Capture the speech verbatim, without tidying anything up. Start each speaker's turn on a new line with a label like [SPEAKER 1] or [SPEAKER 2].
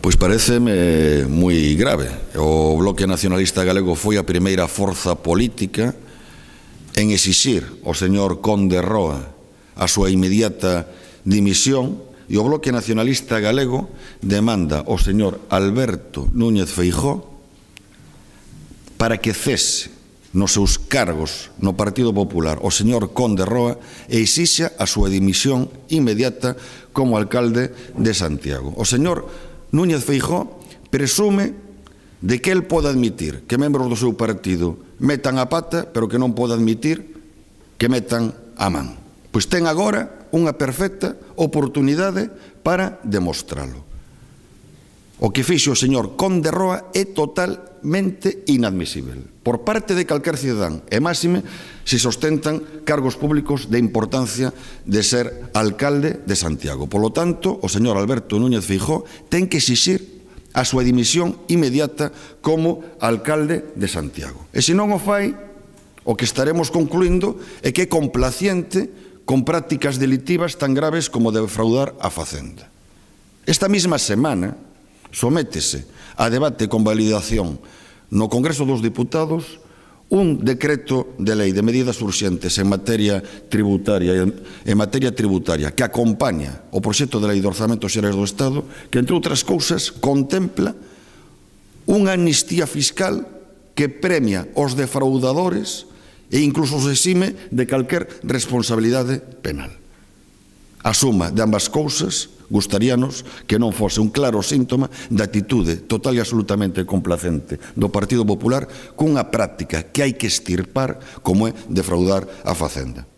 [SPEAKER 1] Pois pareceme moi grave. O Bloque Nacionalista Galego foi a primeira forza política en exixir ao señor Conde Roa a súa inmediata dimisión, e o Bloque Nacionalista Galego demanda ao señor Alberto Núñez Feijóo para que cese nos seus cargos no Partido Popular o señor Conde Roa e exixa a súa dimisión inmediata como alcalde de Santiago. O señor Núñez Feijóo presume de que el pode admitir que membros do seu partido metan a pata, pero que non pode admitir que metan a man. Pois ten agora unha perfecta oportunidade para demostralo. O que fixo o señor Conde Roa é totalmente inadmisible por parte de calquer cidadán, e máxime se sostentan cargos públicos de importancia de ser alcalde de Santiago. Polo tanto, o señor Alberto Núñez Feijóo ten que exixir a súa dimisión inmediata como alcalde de Santiago. E se non o fai, o que estaremos concluindo é que é complaciente con prácticas delitivas tan graves como defraudar a Facenda. Esta mesma semana sométese a debate con validación no Congreso dos Diputados un decreto de lei de medidas urxentes en materia tributaria en materia tributaria que acompaña o proxecto de lei de orzamentos xerais do Estado, que, entre outras cousas, contempla unha amnistía fiscal que premia os defraudadores e incluso os exime de calquer responsabilidade penal. A suma de ambas cousas gustaríanos que non fose un claro síntoma da actitude total e absolutamente complacente do Partido Popular cunha práctica que hai que extirpar como é defraudar a Facenda.